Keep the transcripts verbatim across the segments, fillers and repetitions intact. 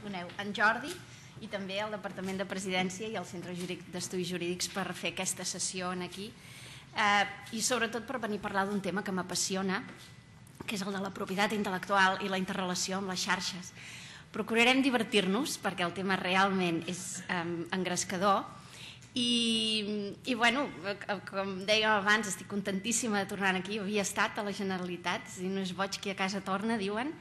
coneu en Jordi i també el Departament de Presidència i el Centre d'Estudis Jurídics per fer aquesta sessió aquí i sobretot per venir a parlar d'un tema que m'apassiona, que és el de la propietat intel·lectual i la interrelació amb les xarxes. Procurarem divertir-nos perquè el tema realment és engrescador i, i bueno, com dèiem abans, estic contentíssima de tornar aquí. Havia estat a la Generalitat, és a dir, no és boig qui a casa torna, diuen,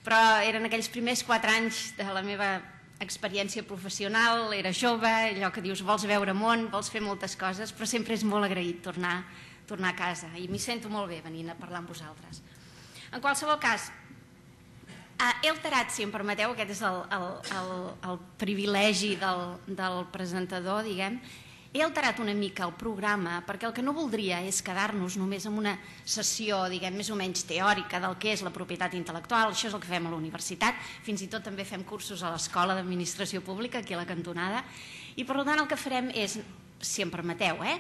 però eren aquells primers quatre anys de la meva experiència professional, era jove, allò que dius vols veure món, vols fer moltes coses, però sempre és molt agraït tornar, tornar a casa i m'hi sento molt bé venint a parlar amb vosaltres. En qualsevol cas, he alterat, si em permeteu, aquest és el, el, el, el privilegi del, del presentador, diguem, he alterat una mica el programa perquè el que no voldria és quedar-nos només en una sessió, diguem, més o menys teòrica del que és la propietat intel·lectual. Això és el que fem a la universitat, fins i tot també fem cursos a l'Escola d'Administració Pública, aquí a la cantonada, i per tant el que farem és, si em permeteu, eh,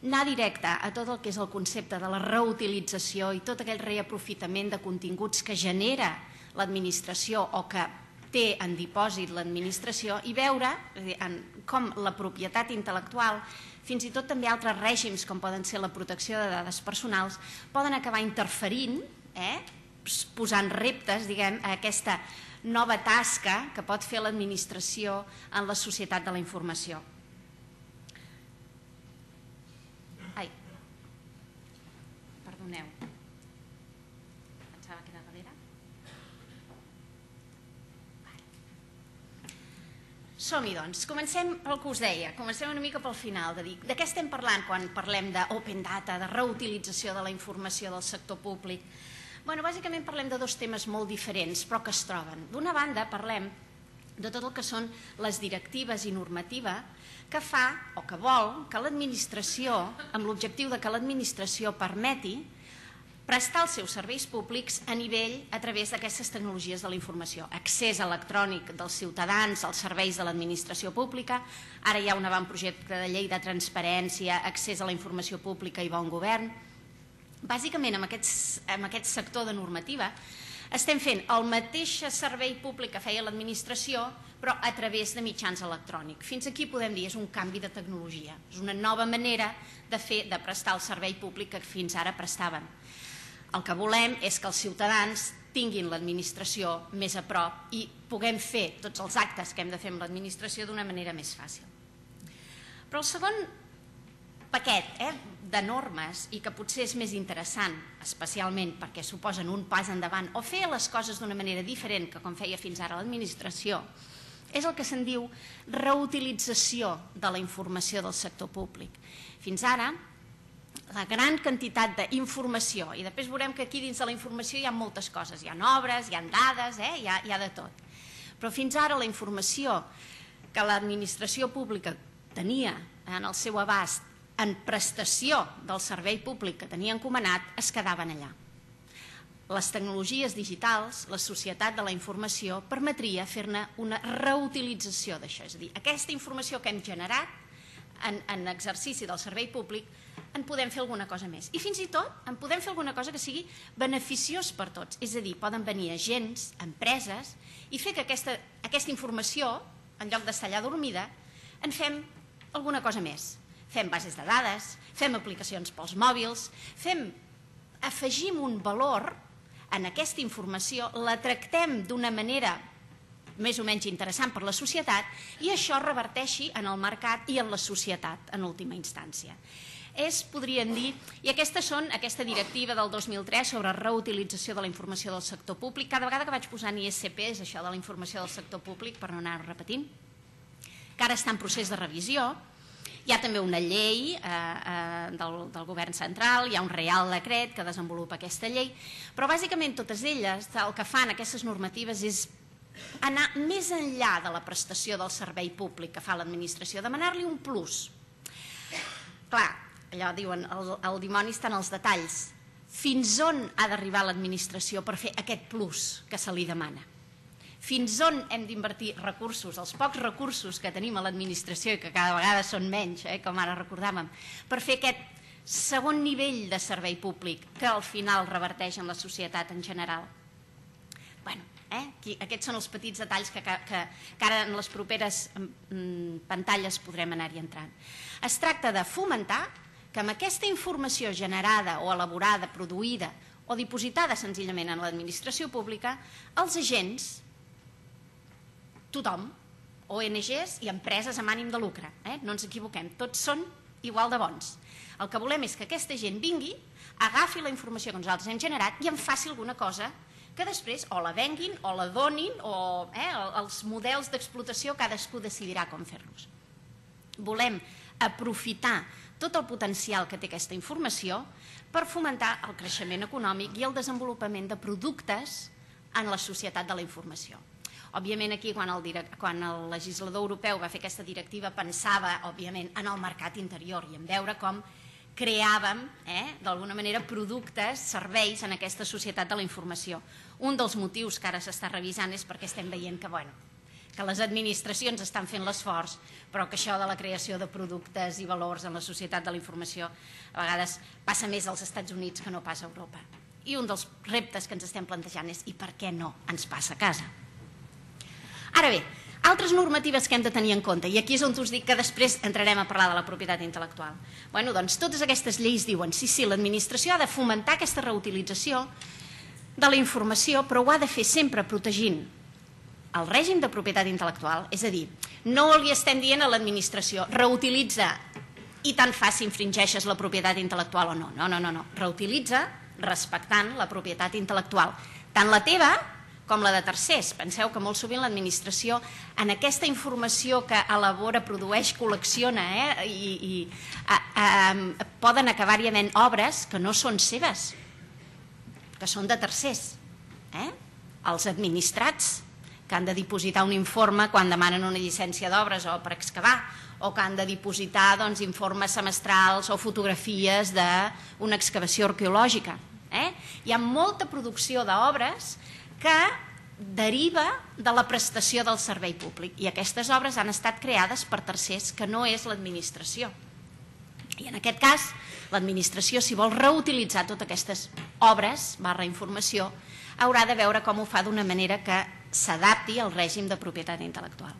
anar directe a tot el que és el concepte de la reutilització i tot aquell reaprofitament de continguts que genera l'administració o que té en dipòsit l'administració i veure com la propietat intel·lectual, fins i tot també altres règims com poden ser la protecció de dades personals, poden acabar interferint, posant reptes, diguem, a aquesta nova tasca que pot fer l'administració en la societat de la informació. Ai, perdoneu. Pensava que era darrere. Som-hi, doncs. Comencem pel que us deia, comencem una mica pel final, de dir de què estem parlant quan parlem d'open data, de reutilització de la informació del sector públic. Bé, bàsicament parlem de dos temes molt diferents, però que es troben. D'una banda, parlem de tot el que són les directives i normativa que fa o que vol que l'administració, amb l'objectiu de que l'administració permeti prestar els seus serveis públics a nivell a través d'aquestes tecnologies de la informació. Accés electrònic dels ciutadans als serveis de l'administració pública, ara hi ha un avantprojecte de llei de transparència, accés a la informació pública i bon govern. Bàsicament, amb aquest sector de normativa, estem fent el mateix servei públic que feia l'administració, però a través de mitjans electrònics. Fins aquí podem dir és un canvi de tecnologia, és una nova manera de fer, de prestar el servei públic que fins ara prestaven. El que volem és que els ciutadans tinguin l'administració més a prop i puguem fer tots els actes que hem de fer amb l'administració d'una manera més fàcil. Però el segon paquet de normes, i que potser és més interessant, especialment perquè suposen un pas endavant o fer les coses d'una manera diferent que com feia fins ara l'administració, és el que se'n diu reutilització de la informació del sector públic. Fins ara, la gran quantitat d'informació, i després veurem que aquí dins de la informació hi ha moltes coses, hi ha obres, hi ha dades, hi ha de tot. Però fins ara la informació que l'administració pública tenia en el seu abast en prestació del servei públic que tenia encomanat es quedaven allà. Les tecnologies digitals, la societat de la informació, permetria fer-ne una reutilització d'això, és a dir, aquesta informació que hem generat en exercici del servei públic en podem fer alguna cosa més. I fins i tot en podem fer alguna cosa que sigui beneficiós per tots. És a dir, poden venir agents, empreses, i fer que aquesta informació, en lloc d'estar allà dormida, en fem alguna cosa més. Fem bases de dades, fem aplicacions pels mòbils, afegim un valor en aquesta informació, la tractem d'una manera més o menys interessant per la societat i això reverteixi en el mercat i en la societat en última instància. És, podríem dir, i aquestes són aquesta directiva del dos mil tres sobre reutilització de la informació del sector públic. Cada vegada que vaig posant I S P és això de la informació del sector públic, per no anar-ho repetint, que ara està en procés de revisió. Hi ha també una llei del govern central, hi ha un reial decret que desenvolupa aquesta llei, però bàsicament totes elles el que fan aquestes normatives és anar més enllà de la prestació del servei públic que fa l'administració, demanar-li un plus. Clar, allò diuen, el dimoni està en els detalls. Fins on ha d'arribar l'administració per fer aquest plus que se li demana? Fins on hem d'invertir recursos, els pocs recursos que tenim a l'administració i que cada vegada són menys, com ara recordàvem, per fer aquest segon nivell de servei públic que al final reverteix en la societat en general? Bé, Aquests són els petits detalls que ara en les properes pantalles podrem anar-hi entrant. Es tracta de fomentar que amb aquesta informació generada o elaborada, produïda o dipositada senzillament en l'administració pública, els agents, tothom, O N Ges i empreses amb ànim de lucre, no ens equivoquem, tots són igual de bons. El que volem és que aquesta gent vingui, agafi la informació que nosaltres hem generat i en faci alguna cosa que després o la venguin o la donin o els models d'explotació cadascú decidirà com fer-los. Volem aprofitar tot el potencial que té aquesta informació per fomentar el creixement econòmic i el desenvolupament de productes en la societat de la informació. Òbviament aquí quan el legislador europeu va fer aquesta directiva pensava òbviament en el mercat interior i en veure com creàvem d'alguna manera productes, serveis en aquesta societat de la informació. Un dels motius que ara s'està revisant és perquè estem veient que que les administracions estan fent l'esforç, però que això de la creació de productes i valors en la societat de la informació a vegades passa més als Estats Units que no passa a Europa. I un dels reptes que ens estem plantejant és i per què no ens passa a casa? Ara bé, altres normatives que hem de tenir en compte, i aquí és on us dic que després entrarem a parlar de la propietat intel·lectual. Bé, doncs totes aquestes lleis diuen sí, sí, l'administració ha de fomentar aquesta reutilització de la informació, però ho ha de fer sempre protegint el règim de propietat intel·lectual, és a dir, no li estem dient a l'administració reutilitza i tant fa si infringeixes la propietat intel·lectual o no. No, no, no, reutilitza respectant la propietat intel·lectual, tant la teva com la de tercers. Penseu que molt sovint l'administració en aquesta informació que elabora, produeix, col·lecciona i poden acabar-hi havent obres que no són seves, que són de tercers. Els administrats que han de dipositar un informe quan demanen una llicència d'obres o per excavar, o que han de dipositar informes semestrals o fotografies d'una excavació arqueològica. Hi ha molta producció d'obres que deriva de la prestació del servei públic i aquestes obres han estat creades per tercers que no és l'administració. I en aquest cas, l'administració, si vol reutilitzar totes aquestes obres barra informació, haurà de veure com ho fa d'una manera que s'adapti al règim de propietat intel·lectual.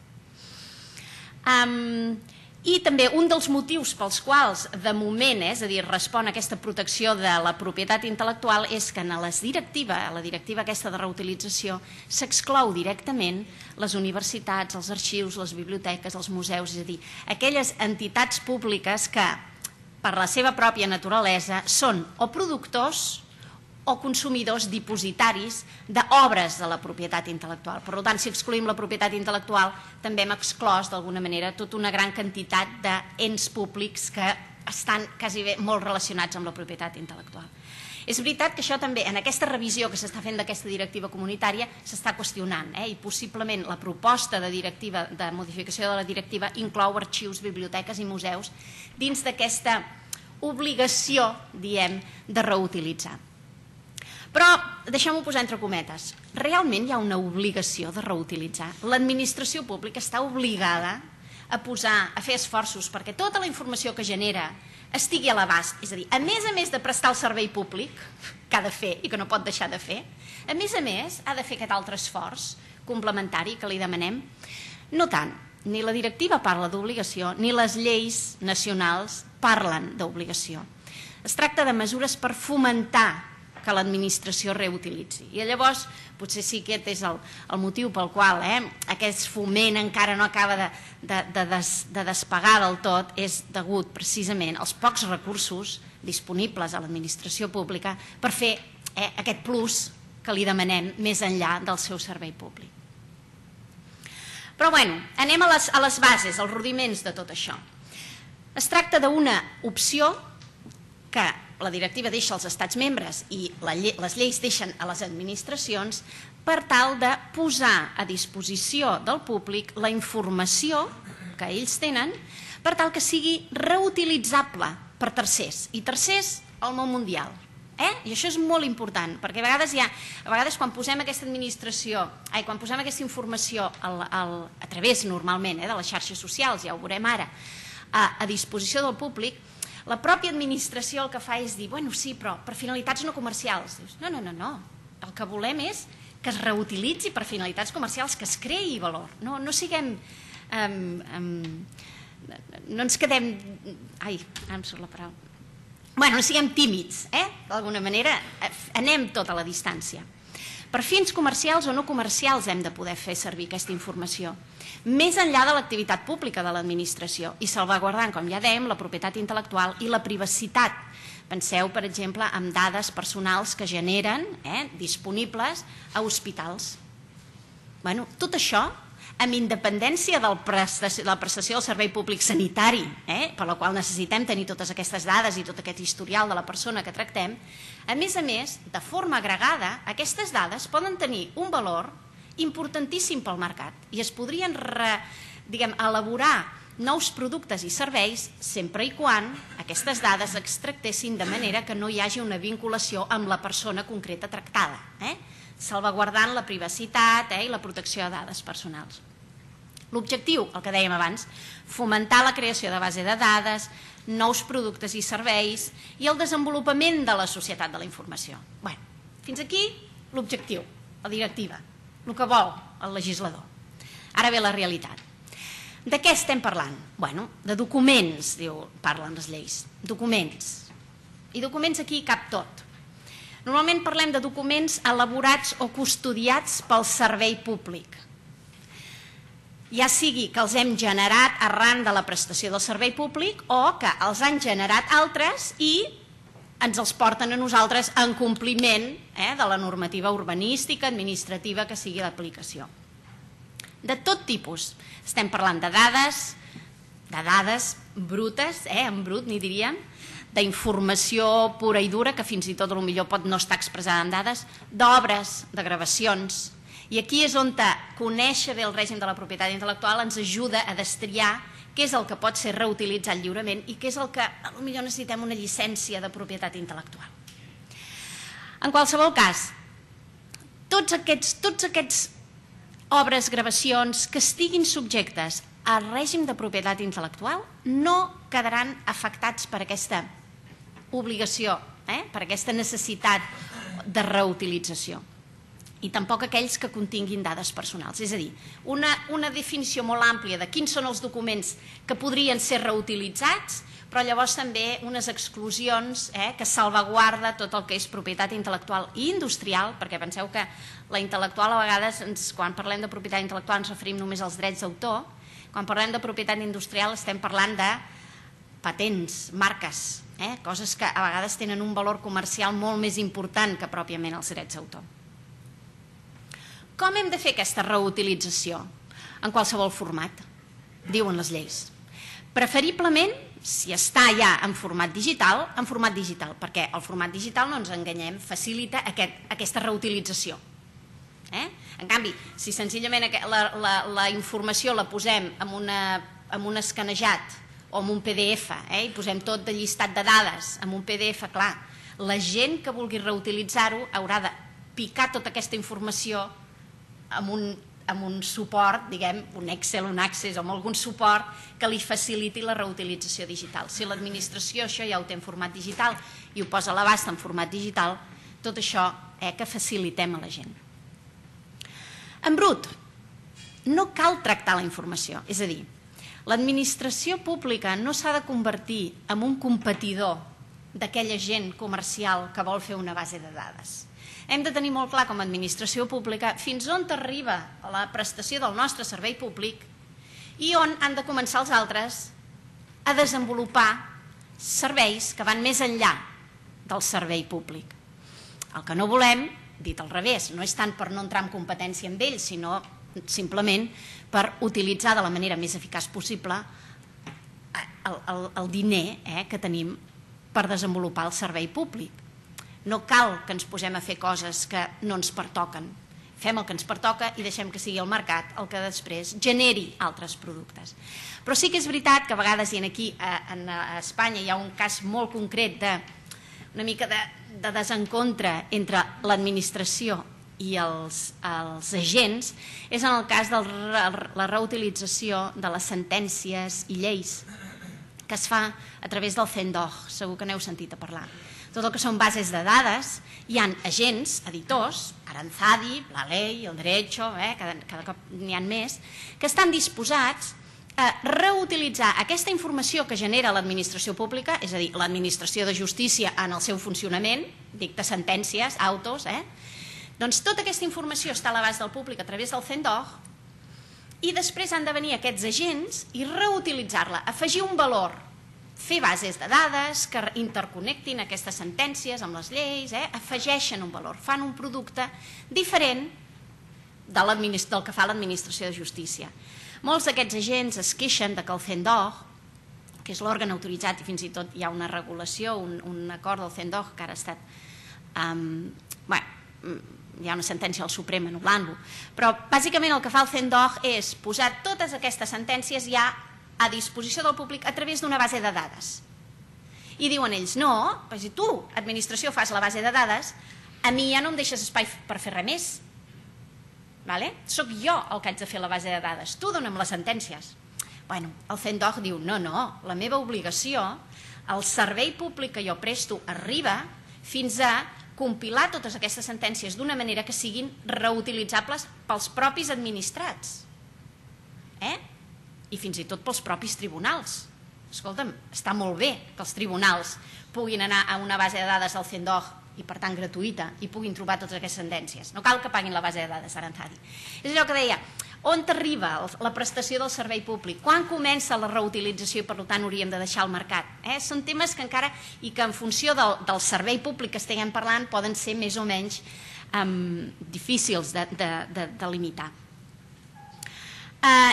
I també un dels motius pels quals de moment, és a dir, respon a aquesta protecció de la propietat intel·lectual és que en la directiva, la directiva aquesta de reutilització, s'exclou directament les universitats, els arxius, les biblioteques, els museus, és a dir, aquelles entitats públiques que, per la seva pròpia naturalesa, són o productors o consumidors dipositaris d'obres de la propietat intel·lectual. Per tant, si excluïm la propietat intel·lectual, també hem exclòs d'alguna manera tota una gran quantitat d'ens públics que estan quasi bé molt relacionats amb la propietat intel·lectual. És veritat que això també, en aquesta revisió que s'està fent d'aquesta directiva comunitària, s'està qüestionant i possiblement la proposta de directiva, de modificació de la directiva, inclou arxius, biblioteques i museus dins d'aquesta obligació, diem, de reutilitzar. Però deixem-ho posar entre cometes. Realment hi ha una obligació de reutilitzar. L'administració pública està obligada a posar, a fer esforços perquè tota la informació que genera estigui a l'abast. És a dir, a més a més de prestar el servei públic, que ha de fer i que no pot deixar de fer, a més a més ha de fer aquest altre esforç complementari que li demanem. No tant, ni la directiva parla d'obligació, ni les lleis nacionals parlen d'obligació. Es tracta de mesures per fomentar que l'administració reutilitzi. I llavors, potser sí que aquest és el motiu pel qual aquest foment encara no acaba de despegar del tot, és degut precisament als pocs recursos disponibles a l'administració pública per fer aquest plus que li demanem més enllà del seu servei públic. Però bé, anem a les bases, als rudiments de tot això. Es tracta d'una opció que la directiva deixa als estats membres i les lleis deixen a les administracions per tal de posar a disposició del públic la informació que ells tenen per tal que sigui reutilitzable per tercers, i tercers al món mundial. I això és molt important, perquè a vegades, ha, a vegades quan posem aquesta administració, ai, quan posem aquesta informació al, al, a través normalment de les xarxes socials, ja ho veurem ara, a, a disposició del públic, la pròpia administració el que fa és dir, bueno, sí, però per finalitats no comercials. Dius, no, no, no, no. El que volem és que es reutilitzi per finalitats comercials, que es creï valor. No, no siguem... Um, um, no ens quedem... Ai, ara em surt la paraula. Bueno, no siguem tímids, eh? D'alguna manera anem tota la distància. Per fins comercials o no comercials hem de poder fer servir aquesta informació, més enllà de l'activitat pública de l'administració i salvaguardant, com ja dèiem, la propietat intel·lectual i la privacitat. Penseu, per exemple, en dades personals que generen, eh, disponibles a hospitals. Bueno, tot això, amb independència de la prestació del servei públic sanitari, eh, per la qual necessitem tenir totes aquestes dades i tot aquest historial de la persona que tractem, a més a més, de forma agregada, aquestes dades poden tenir un valor importantíssim pel mercat i es podrien re, diguem, elaborar nous productes i serveis sempre i quan aquestes dades extractessin de manera que no hi hagi una vinculació amb la persona concreta tractada, eh? salvaguardant la privacitat eh, i la protecció de dades personals. L'objectiu, el que dèiem abans, fomentar la creació de base de dades, nous productes i serveis i el desenvolupament de la societat de la informació. Bé, fins aquí l'objectiu, la directiva, el que vol el legislador. Ara ve la realitat. De què estem parlant? Bueno, de documents, diu, parlen les lleis. Documents. I documents aquí cap tot. Normalment parlem de documents elaborats o custodiats pel servei públic. Ja sigui que els hem generat arran de la prestació del servei públic o que els han generat altres i ens els porten a nosaltres en compliment eh, de la normativa urbanística, administrativa que sigui d'aplicació. De tot tipus. Estem parlant de dades, de dades brutes, eh, en brut n'hi diríem, d'informació pura i dura, que fins i tot potser pot no estar expressada en dades, d'obres, de gravacions. I aquí és on conèixer bé el règim de la propietat intel·lectual ens ajuda a destriar què és el que pot ser reutilitzat lliurement i què és el que potser necessitem una llicència de propietat intel·lectual. En qualsevol cas, tots aquests, tots aquests obres, gravacions que estiguin subjectes al règim de propietat intel·lectual no quedaran afectats per aquesta obligació, eh? per aquesta necessitat de reutilització. I tampoc aquells que continguin dades personals. És a dir, una, una definició molt àmplia de quins són els documents que podrien ser reutilitzats, però llavors també unes exclusions eh, que salvaguarda tot el que és propietat intel·lectual i industrial, perquè penseu que la intel·lectual a vegades, ens, quan parlem de propietat intel·lectual ens referim només als drets d'autor, quan parlem de propietat industrial estem parlant de patents, marques, eh, coses que a vegades tenen un valor comercial molt més important que pròpiament els drets d'autor. Com hem de fer aquesta reutilització? En qualsevol format, diuen les lleis. Preferiblement, si està ja en format digital, en format digital, perquè el format digital, no ens enganyem, facilita aquest, aquesta reutilització. Eh? En canvi, si senzillament la, la, la informació la posem en, una, en un escanejat o en un P D F eh? i posem tot de llistat de dades en un P D F, clar, la gent que vulgui reutilitzar-ho haurà de picar tota aquesta informació amb un, amb un suport, diguem, un Excel, un Access o amb algun suport que li faciliti la reutilització digital. Si l'administració això ja ho té en format digital i ho posa a l'abast en format digital, tot això eh, que facilitem a la gent. En brut, no cal tractar la informació, és a dir, l'administració pública no s'ha de convertir en un competidor d'aquella gent comercial que vol fer una base de dades. Hem de tenir molt clar com a administració pública fins on arriba la prestació del nostre servei públic i on han de començar els altres a desenvolupar serveis que van més enllà del servei públic. El que no volem, dit al revés, no és tant per no entrar en competència amb ells, sinó simplement per utilitzar de la manera més eficaç possible el, el, el diner eh, que tenim per desenvolupar el servei públic. No cal que ens posem a fer coses que no ens pertoquen. Fem el que ens pertoca i deixem que sigui el mercat el que després generi altres productes. Però sí que és veritat que a vegades, i aquí a Espanya hi ha un cas molt concret de una mica de, de desencontre entre l'administració i els, els agents, és en el cas de la reutilització de les sentències i lleis. que es fa a través del CENDOG, segur que n'heu sentit a parlar. Tot el que són bases de dades, hi ha agents, editors, Aranzadi, la Ley, el Derecho, eh, cada, cada cop n'hi ha més, que estan disposats a reutilitzar aquesta informació que genera l'administració pública, és a dir, l'administració de justícia en el seu funcionament, dicta sentències, autos, eh? Doncs tota aquesta informació està a l'abast del públic a través del CENDOG i després han de venir aquests agents i reutilitzar-la, afegir un valor, fer bases de dades que interconnectin aquestes sentències amb les lleis, eh? Afegeixen un valor, fan un producte diferent del que fa l'administració de justícia. Molts d'aquests agents es queixen que el CENDOG, que és l'òrgan autoritzat i fins i tot hi ha una regulació, un, un acord del CENDOG que ara ha estat... Um, bueno, hi ha una sentència al Suprem anul·lant-lo, però bàsicament el que fa el CENDOG és posar totes aquestes sentències ja a disposició del públic a través d'una base de dades. I diuen ells, no, si tu, administració, fas la base de dades, a mi ja no em deixes espai per fer res més. Soc jo el que haig de fer la base de dades, tu dona'm les sentències. Bueno, el CENDOG diu, no, no, la meva obligació, el servei públic que jo presto arriba fins a compilar totes aquestes sentències d'una manera que siguin reutilitzables pels propis administrats i fins i tot pels propis tribunals. Escolta'm, està molt bé que els tribunals puguin anar a una base de dades del CENDOG i per tant gratuïta i puguin trobar totes aquestes sentències. No cal que paguin la base de dades, Aranzadi. És allò que deia, on arriba la prestació del servei públic? Quan comença la reutilització i per tant hauríem de deixar al mercat? Són temes que encara, i que en funció del servei públic que estiguem parlant, poden ser més o menys difícils de limitar.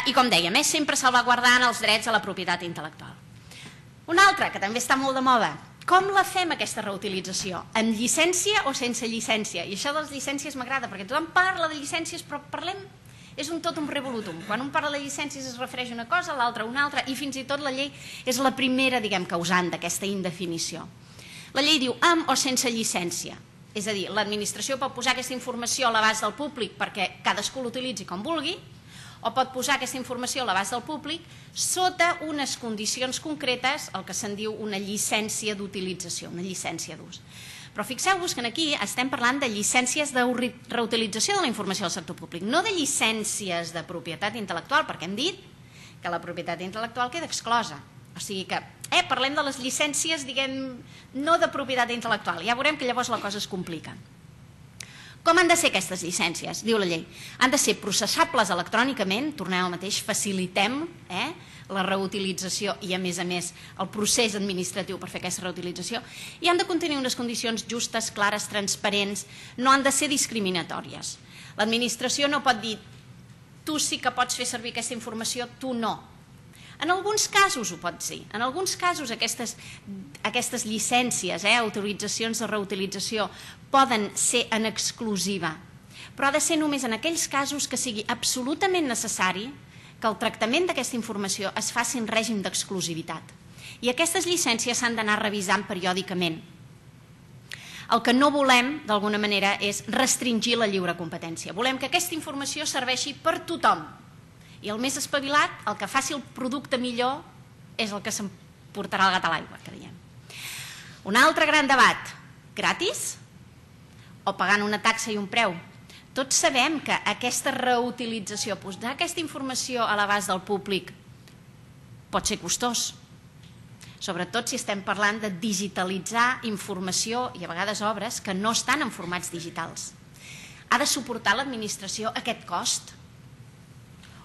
I com dèiem, sempre salvaguardant els drets a la propietat intel·lectual. Una altra, que també està molt de moda, com la fem aquesta reutilització? Amb llicència o sense llicència? I això de les llicències m'agrada, perquè tothom parla de llicències, però parlem... És un tot un revolutum. Quan un parla de llicències es refereix a una cosa, l'altra a una altra, i fins i tot la llei és la primera, diguem, causant d'aquesta indefinició. La llei diu amb o sense llicència. És a dir, l'administració pot posar aquesta informació a l'abast del públic perquè cadascú l'utilitzi com vulgui, o pot posar aquesta informació a l'abast del públic sota unes condicions concretes, el que se'n diu una llicència d'utilització, una llicència d'ús. Però fixeu-vos que aquí estem parlant de llicències de reutilització de la informació del sector públic, no de llicències de propietat intel·lectual, perquè hem dit que la propietat intel·lectual queda exclosa. O sigui que parlem de les llicències, diguem, no de propietat intel·lectual. Ja veurem que llavors la cosa es complica. Com han de ser aquestes llicències? Diu la llei. Han de ser processables electrònicament, tornem al mateix, facilitem la reutilització i, a més a més, el procés administratiu per fer aquesta reutilització, i han de contenir unes condicions justes, clares, transparents, no han de ser discriminatòries. L'administració no pot dir tu sí que pots fer servir aquesta informació, tu no. En alguns casos ho pot ser. En alguns casos aquestes llicències, autoritzacions de reutilització, poden ser en exclusiva, però ha de ser només en aquells casos que sigui absolutament necessari que el tractament d'aquesta informació es faci en règim d'exclusivitat. I aquestes llicències s'han d'anar revisant periòdicament. El que no volem, d'alguna manera, és restringir la lliure competència. Volem que aquesta informació serveixi per tothom. I el més espavilat, el que faci el producte millor, és el que s'emportarà el gat a l'aigua, que diem. Un altre gran debat, gratis o pagant una taxa i un preu? Tots sabem que aquesta reutilització, posar aquesta informació a l'abast del públic pot ser costós, sobretot si estem parlant de digitalitzar informació i a vegades obres que no estan en formats digitals. Ha de suportar l'administració aquest cost?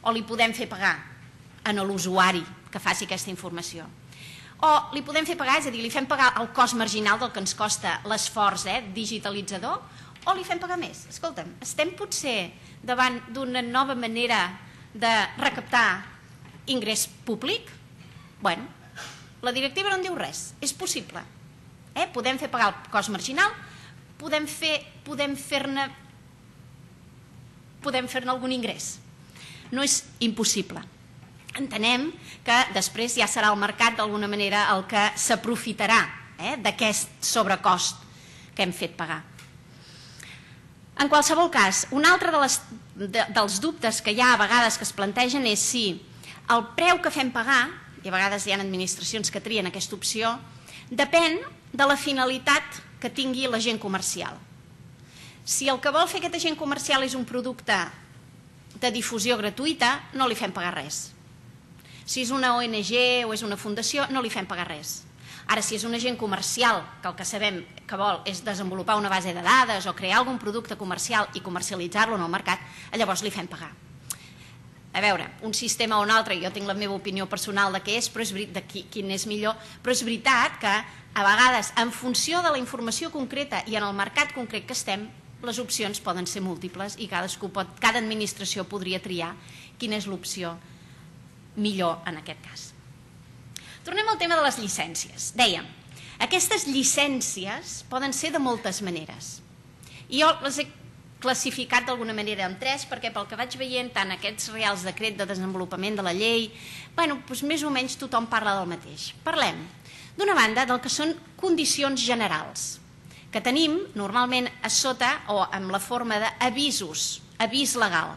O li podem fer pagar a l'usuari que faci aquesta informació? O li podem fer pagar, és a dir, li fem pagar el cost marginal del que ens costa l'esforç digitalitzador, o li fem pagar més? Escolta'm, estem potser davant d'una nova manera de recaptar ingrés públic? Bueno, la directiva no en diu res, és possible. Podem fer pagar el cost marginal, podem fer-ne podem fer-ne algun ingrés. No és impossible. Entenem que després ja serà el mercat d'alguna manera el que s'aprofitarà d'aquest sobrecost que hem fet pagar. En qualsevol cas, un altre dels dubtes que hi ha a vegades que es plantegen és si el preu que fem pagar i a vegades hi ha administracions que trien aquesta opció, depèn de la finalitat que tingui l'agent comercial. Si el que vol fer aquest agent comercial és un producte de difusió gratuïta, no li fem pagar res. Si és una O N G o és una fundació, no li fem pagar res. Ara, si és un agent comercial que el que sabem que vol és desenvolupar una base de dades o crear algun producte comercial i comercialitzar-lo en el mercat, llavors li fem pagar. A veure, un sistema o un altre, jo tinc la meva opinió personal de què és, però és de quin és millor, però és veritat que a vegades, en funció de la informació concreta i en el mercat concret que estem, les opcions poden ser múltiples i cadascú pot, cada administració podria triar quina és l'opció millor en aquest cas. Tornem al tema de les llicències. Dèiem, aquestes llicències poden ser de moltes maneres. I jo les he classificat d'alguna manera en tres, perquè pel que vaig veient tant aquests reials decret de desenvolupament de la llei, bueno, doncs més o menys tothom parla del mateix. Parlem, d'una banda, del que són condicions generals, que tenim normalment a sota o amb la forma d'avisos, avís legal.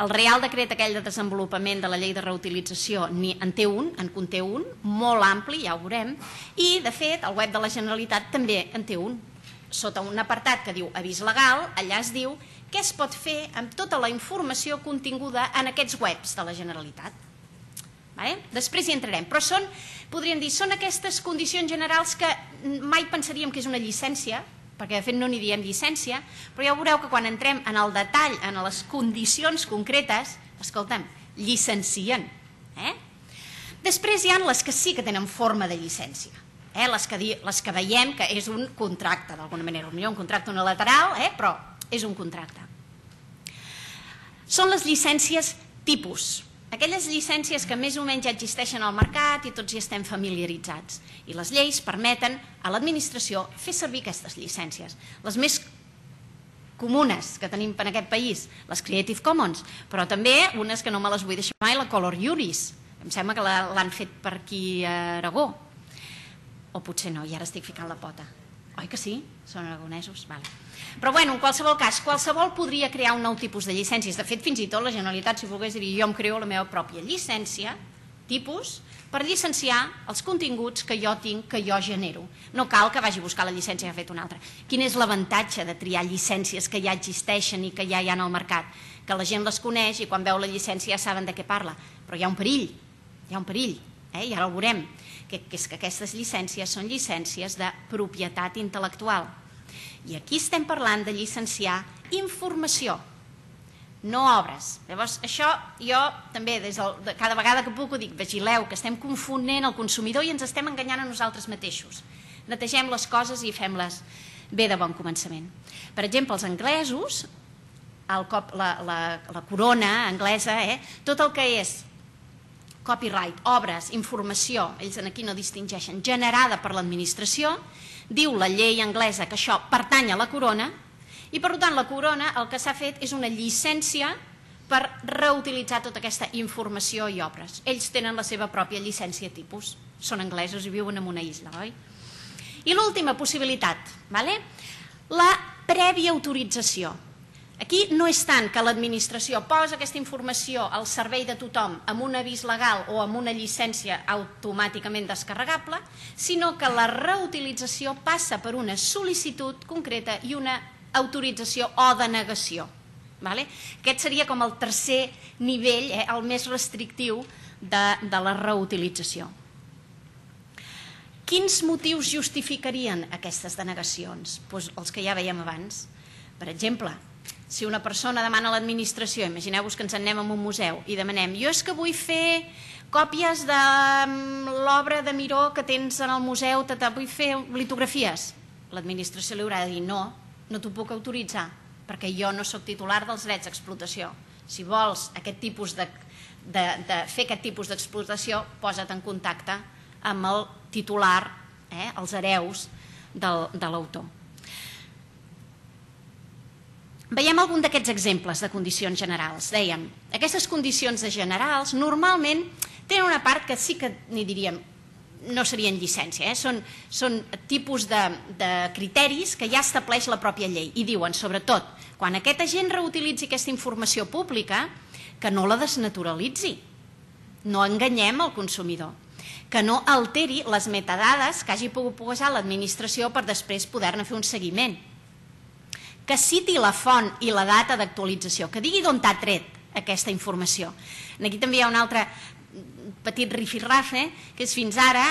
El Reial Decret aquell de desenvolupament de la llei de reutilització en té un, en conté un, molt ampli, ja ho veurem, i de fet el web de la Generalitat també en té un. Sota un apartat que diu avís legal, allà es diu què es pot fer amb tota la informació continguda en aquests webs de la Generalitat. Després hi entrarem, però són, podríem dir, són aquestes condicions generals que mai pensaríem que és una llicència, perquè de fet no n'hi diem llicència, però ja veureu que quan entrem en el detall, en les condicions concretes, escolta'm, llicencien. Després hi ha les que sí que tenen forma de llicència, les que veiem que és un contracte, d'alguna manera, potser un contracte unilateral, però és un contracte. Són les llicències tipus, aquelles llicències que més o menys ja existeixen al mercat i tots hi estem familiaritzats. I les lleis permeten a l'administració fer servir aquestes llicències. Les més comunes que tenim en aquest país, les Creative Commons, però també unes que no me les vull deixar mai, la Color Juris. Em sembla que l'han fet per aquí a Aragó. O potser no, i ara estic ficant la pota. Oi que sí? Són aragonesos? Però bueno, en qualsevol cas, qualsevol podria crear un nou tipus de llicències. De fet, fins i tot la Generalitat, si volgués dir, jo em creo la meva pròpia llicència, tipus, per llicenciar els continguts que jo tinc, que jo genero. No cal que vagi a buscar la llicència que ha fet una altra. Quin és l'avantatge de triar llicències que ja existeixen i que ja hi ha al mercat? Que la gent les coneix i quan veu la llicència ja saben de què parla. Però hi ha un perill, hi ha un perill, i ara ho veurem, que és que aquestes llicències són llicències de propietat intel·lectual. I aquí estem parlant de llicenciar informació, no obres. Llavors, això jo també, cada vegada que puc ho dic, vigileu, que estem confonent el consumidor i ens estem enganyant a nosaltres mateixos. Netegem les coses i fem-les bé de bon començament. Per exemple, els anglesos, la corona anglesa, tot el que és copyright, obres, informació, ells aquí no distingeixen, generada per l'administració, diu la llei anglesa que això pertany a la corona i per tant la corona el que s'ha fet és una llicència per reutilitzar tota aquesta informació i obres. Ells tenen la seva pròpia llicència tipus, són anglesos i viuen en una isla, oi? I l'última possibilitat, la prèvia autorització. Aquí no és tant que l'administració posa aquesta informació al servei de tothom amb un avís legal o amb una llicència automàticament descarregable, sinó que la reutilització passa per una sol·licitud concreta i una autorització o denegació. Aquest seria com el tercer nivell, el més restrictiu de la reutilització. Quins motius justificarien aquestes denegacions? Doncs els que ja veiem abans. Per exemple, si una persona demana a l'administració, imagineu-vos que ens en anem a un museu i demanem, jo és que vull fer còpies de l'obra de Miró que tens en el museu, vull fer litografies. L'administració li haurà de dir, no, no t'ho puc autoritzar, perquè jo no soc titular dels drets d'explotació. Si vols fer aquest tipus d'explotació, posa't en contacte amb el titular, els hereus de l'autor. Veiem algun d'aquests exemples de condicions generals. Dèiem, aquestes condicions generals normalment tenen una part que sí que n'hi diríem, no serien llicència, són tipus de criteris que ja estableix la pròpia llei i diuen, sobretot, quan aquest agent reutilitzi aquesta informació pública, que no la desnaturalitzi. no enganyem el consumidor, que no alteri les metadades que hagi pogut posar l'administració per després poder-ne fer un seguiment, que citi la font i la data d'actualització, que digui d'on t'ha tret aquesta informació. Aquí també hi ha un altre petit rifirrafe, que és fins ara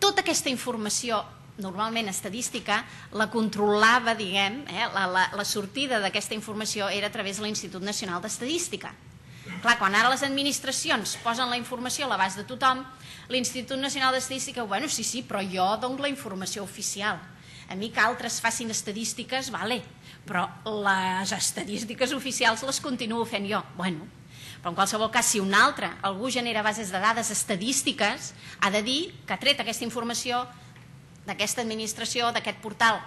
tota aquesta informació normalment estadística la controlava, diguem, eh, la, la, la sortida d'aquesta informació era a través de l'Institut Nacional d'Estadística. Clar, quan ara les administracions posen la informació a l'abast de tothom, l'Institut Nacional d'Estadística, bueno, sí, sí, però jo dono la informació oficial. A mi que altres facin estadístiques, vale, però les estadístiques oficials les continuo fent jo. Bueno, però en qualsevol cas, si un altre, algú genera bases de dades estadístiques, ha de dir que ha tret aquesta informació d'aquesta administració, d'aquest portal.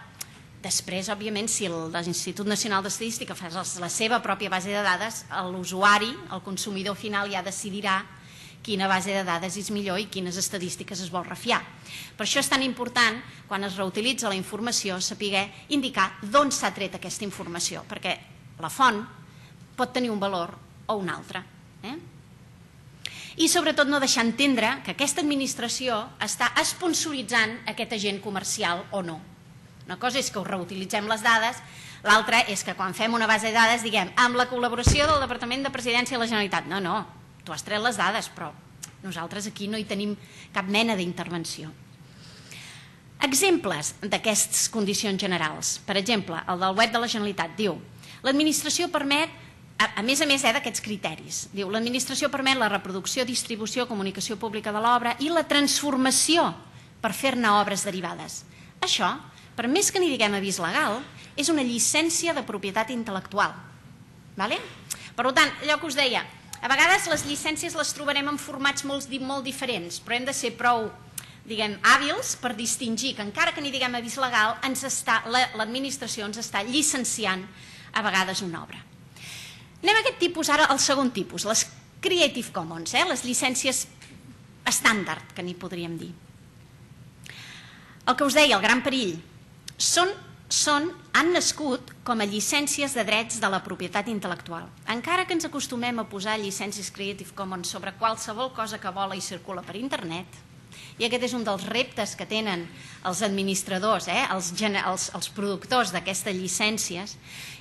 Després, òbviament, si l'Institut Nacional d'Estadística fa la seva pròpia base de dades, l'usuari, el consumidor final, ja decidirà quina base de dades és millor i quines estadístiques es vol refiar. Per això és tan important, quan es reutilitza la informació, saber indicar d'on s'ha tret aquesta informació, perquè la font pot tenir un valor o un altre. Eh? I sobretot no deixar entendre que aquesta administració està esponsoritzant aquest agent comercial o no. Una cosa és que us reutilitzem les dades, l'altra és que quan fem una base de dades diguem amb la col·laboració del Departament de Presidència de la Generalitat. No, no, tu has tret les dades, però nosaltres aquí no hi tenim cap mena d'intervenció. Exemples d'aquestes condicions generals. Per exemple, el del web de la Generalitat diu: l'administració permet, a més a més eh, d'aquests criteris, diu l'administració permet la reproducció, distribució, comunicació pública de l'obra i la transformació per fer-ne obres derivades. Això, per més que n'hi diguem avís legal, és una llicència de propietat intel·lectual. Vale? Per tant, allò que us deia, a vegades les llicències les trobarem en formats molt, molt diferents, però hem de ser prou, diguem, hàbils per distingir que encara que n'hi diguem avís legal, l'administració ens està llicenciant a vegades una obra. Anem a aquest tipus, ara al segon tipus, les Creative Commons, eh? Les llicències estàndard, que n'hi podríem dir. El que us deia, el gran perill, són, són, han nascut com a llicències de drets de la propietat intel·lectual. Encara que ens acostumem a posar llicències Creative Commons sobre qualsevol cosa que vola i circula per internet, i aquest és un dels reptes que tenen els administradors, eh? els, els, els productors d'aquestes llicències,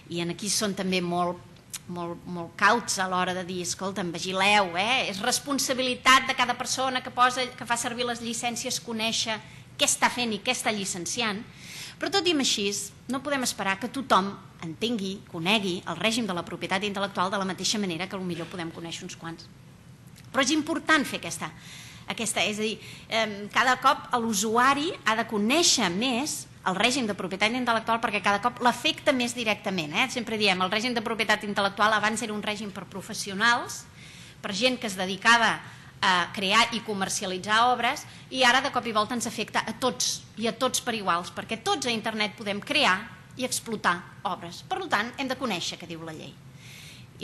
i aquí són també molt, molt, molt cauts a l'hora de dir, escolta'm, vigileu, eh? És responsabilitat de cada persona que, posa, que fa servir les llicències conèixer què està fent i què està llicenciant, però tot i així no podem esperar que tothom entengui, conegui el règim de la propietat intel·lectual de la mateixa manera que potser podem conèixer uns quants. Però és important fer aquesta, aquesta és a dir, eh, cada cop l'usuari ha de conèixer més el règim de propietat intel·lectual perquè cada cop l'afecta més directament. Eh? Sempre diem, el règim de propietat intel·lectual abans era un règim per professionals, per gent que es dedicava a crear i comercialitzar obres, i ara de cop i volta ens afecta a tots i a tots per iguals, perquè tots a internet podem crear i explotar obres. Per tant, hem de conèixer què diu la llei.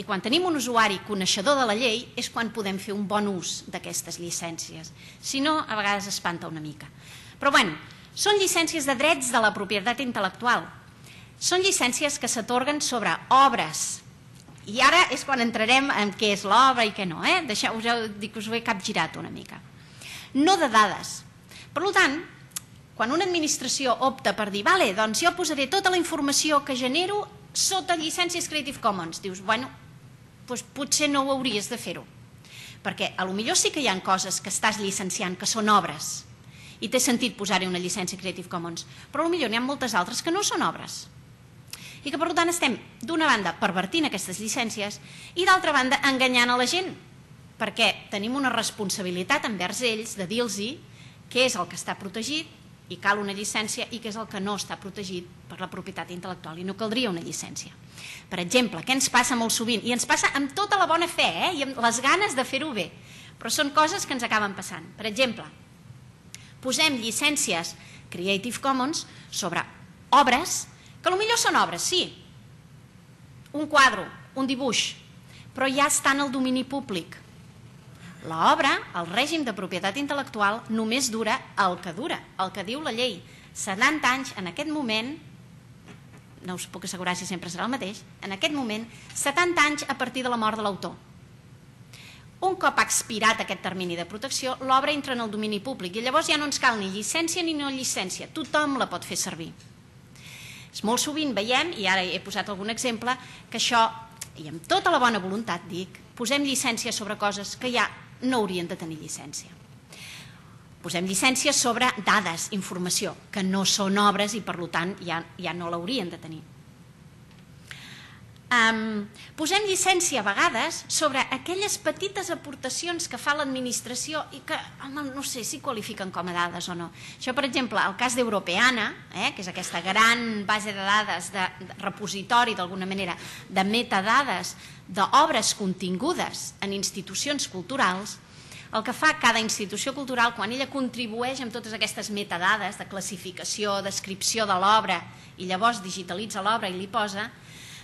I quan tenim un usuari coneixedor de la llei és quan podem fer un bon ús d'aquestes llicències. Si no, a vegades espanta una mica. Però bé, són llicències de drets de la propietat intel·lectual. Són llicències que s'atorguen sobre obres. I ara és quan entrarem en què és l'obra i què no. Eh? Deixeu, us heu dit que us ho he capgirat una mica. No de dades. Per tant, quan una administració opta per dir, vale, doncs jo posaré tota la informació que genero sota llicències Creative Commons, dius, bueno, doncs potser no ho hauries de fer-ho. Perquè potser sí que hi ha coses que estàs llicenciant que són obres i té sentit posar-hi una llicència Creative Commons, però potser n'hi ha moltes altres que no són obres. I que per tant estem d'una banda pervertint aquestes llicències i d'altra banda enganyant a la gent, perquè tenim una responsabilitat envers ells de dir-los què és el que està protegit i cal una llicència i què és el que no està protegit per la propietat intel·lectual i no caldria una llicència. Per exemple, què ens passa molt sovint? I ens passa amb tota la bona fe eh? I amb les ganes de fer-ho bé, però són coses que ens acaben passant. Per exemple, posem llicències Creative Commons sobre obres que potser són obres, sí, un quadre, un dibuix, però ja està en el domini públic. L'obra, el règim de propietat intel·lectual, només dura el que dura, el que diu la llei. setanta anys, en aquest moment, no us puc assegurar si sempre serà el mateix, en aquest moment, setanta anys a partir de la mort de l'autor. Un cop expirat aquest termini de protecció, l'obra entra en el domini públic i llavors ja no ens cal ni llicència ni no llicència, tothom la pot fer servir. Molt sovint veiem, i ara he posat algun exemple, que això, i amb tota la bona voluntat dic, posem llicència sobre coses que ja no haurien de tenir llicència. Posem llicència sobre dades, informació, que no són obres i per tant ja, ja no l'haurien de tenir. Um, posem llicència a vegades sobre aquelles petites aportacions que fa l'administració i que, home, no sé si qualifiquen com a dades o no. Això, per exemple, el cas d'Europeana, eh, que és aquesta gran base de dades, de, de repositori, d'alguna manera, de metadades d'obres contingudes en institucions culturals, el que fa cada institució cultural, quan ella contribueix amb totes aquestes metadades de classificació, descripció de l'obra i llavors digitalitza l'obra i li posa,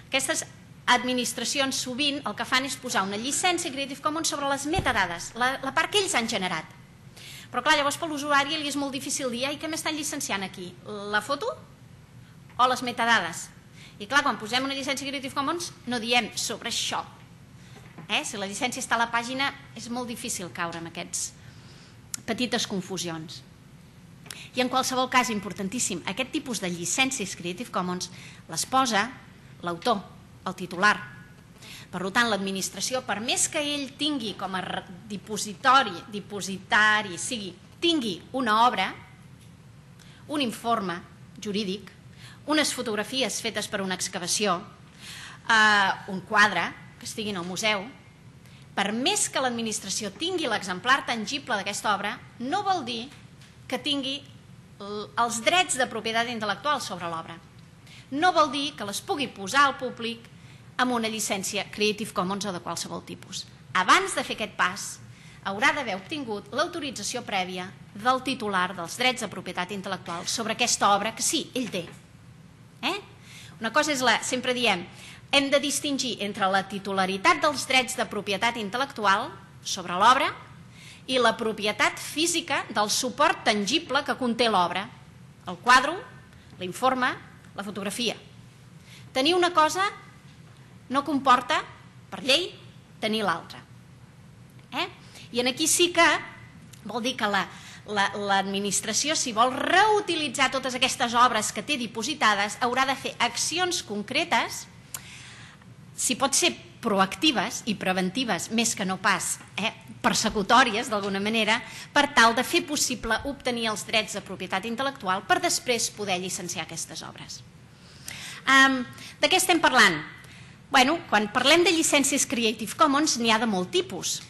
aquestes administracions sovint el que fan és posar una llicència Creative Commons sobre les metadades, la, la part que ells han generat. Però clar, llavors per l'usuari li és molt difícil dir i què m'estan llicenciant aquí? La foto o les metadades? I clar, quan posem una llicència Creative Commons no diem sobre això. Eh? Si la llicència està a la pàgina és molt difícil caure en aquestes petites confusions. I en qualsevol cas, importantíssim, aquest tipus de llicències Creative Commons les posa l'autor, el titular. Per tant, l'administració, per més que ell tingui com a dipositori, dipositari, sigui, tingui una obra, un informe jurídic, unes fotografies fetes per una excavació, eh, un quadre que estigui en el museu, per més que l'administració tingui l'exemplar tangible d'aquesta obra, no vol dir que tingui els drets de propietat intel·lectual sobre l'obra. No vol dir que les pugui posar al públic amb una llicència Creative Commons o de qualsevol tipus. Abans de fer aquest pas, haurà d'haver obtingut l'autorització prèvia del titular dels drets de propietat intel·lectual sobre aquesta obra que sí, ell té. Eh? Una cosa és la, sempre diem, hem de distingir entre la titularitat dels drets de propietat intel·lectual sobre l'obra i la propietat física del suport tangible que conté l'obra, el quadre, l'informe, la fotografia. Tenir una cosa no comporta, per llei, tenir l'altra. Eh? I aquí sí que vol dir que l'administració, si vol reutilitzar totes aquestes obres que té dipositades, haurà de fer accions concretes, si pot ser proactives i preventives, més que no pas eh, persecutòries, d'alguna manera, per tal de fer possible obtenir els drets de propietat intel·lectual per després poder llicenciar aquestes obres. Um, de què estem parlant? Bueno, quan parlem de llicències Creative Commons n'hi ha de molt tipus.